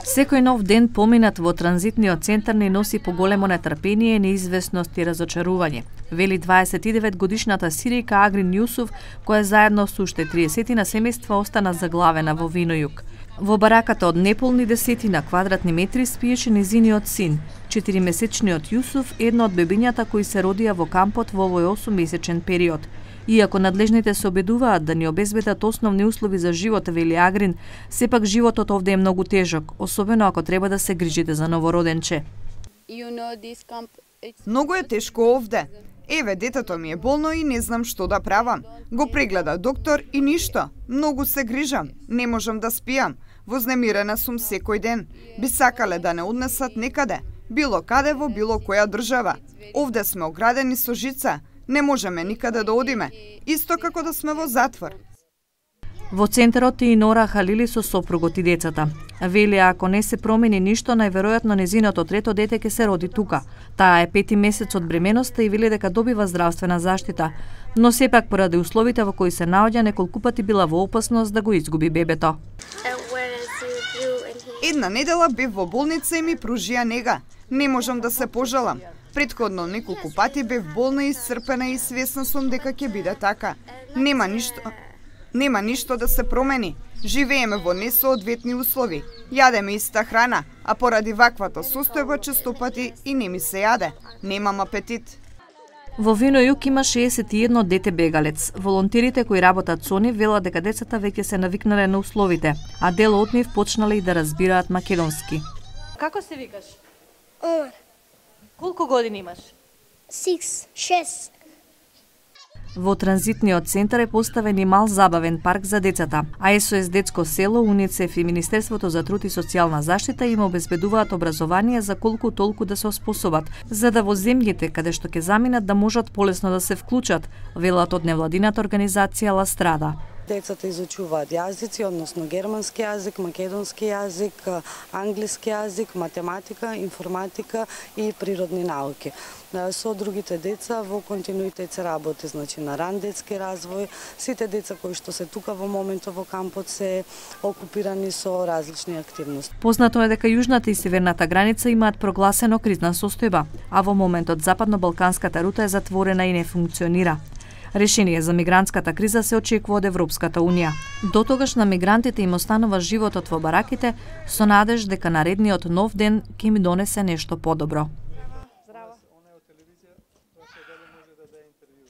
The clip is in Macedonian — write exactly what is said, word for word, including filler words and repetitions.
Секој нов ден поминат во транзитниот центар не носи поголемо нетрпение, неизвестност и разочарување, вели дваесет и девет годишната Сиријка Агрин Јусуф, која заедно со уште триесет семејства остана заглавена во Винојук. Во бараката од неполни десетина квадратни метри спиеше незиниот син, четиримесечниот Јусуф, едно од бебињата кои се родија во кампот во овој осуммесечен период. Иако надлежните се обидуваат да ни обезбедат основни услови за живот, вели Агрин, сепак животот овде е многу тежок, особено ако треба да се грижите за новороденче. Многу е тешко овде. Еве, детето ми е болно и не знам што да правам. Го прегледа доктор и ништо. Многу се грижам. Не можам да спијам. Вознемирена сум секој ден. Би сакале да не однесат некаде. Било каде во било која држава. Овде сме оградени со жица. Не можеме никаде да одиме. Исто како да сме во затвор. Во центарот и Нора Халили со сопругот и децата. Вели, ако не се промени ништо, најверојатно незиното трето дете ќе се роди тука. Таа е пети месец од бременоста и вели дека добива здравствена заштита, но сепак поради условите во кои се наоѓа неколку пати била во опасност да го изгуби бебето. Една недела бев во болница и ми пружија нега. Не можам да се пожалам. Претходно неколку пати бев болна и исцрпена и свесна сум дека ќе биде така. Нема ништо, нема ништо да се промени. Живееме во несоодветни услови. Јадеме иста храна, а поради ваквата состојба честопати и не ми се јаде. Немам апетит. Во Винојук има шеесет и едно дете бегалец. Волонтерите кои работат со нив велат дека децата веќе се навикнале на условите, а дел од нив почнале и да разбираат македонски. Како се викаш? Омар. Колку години имаш? Сикс, шест. Во транзитниот центар е поставен и мал забавен парк за децата, а Ес О Ес Детско село, УНИЦЕФ и Министерството за труд и социјална заштита им обезбедуваат образование за колку толку да се оспособат, за да во земјите каде што ќе заминат да можат полесно да се вклучат, велат од невладината организација Ла Страда. Децата изучуваат јазици, односно германски јазик, македонски јазик, англиски јазик, математика, информатика и природни науки. Со другите деца во континуитет се работи, значи на ран детски развој. Сите деца кои што се тука во моментот во кампот се окупирани со различни активности. Познато е дека јужната и северната граница имаат прогласено кризна состојба, а во моментот западно-балканската рута е затворена и не функционира. Решение за мигрантската криза се очекува од Европската унија. Дотогаш на мигрантите им останува животот во бараките со надеж дека наредниот нов ден ќе им донесе нешто подобро.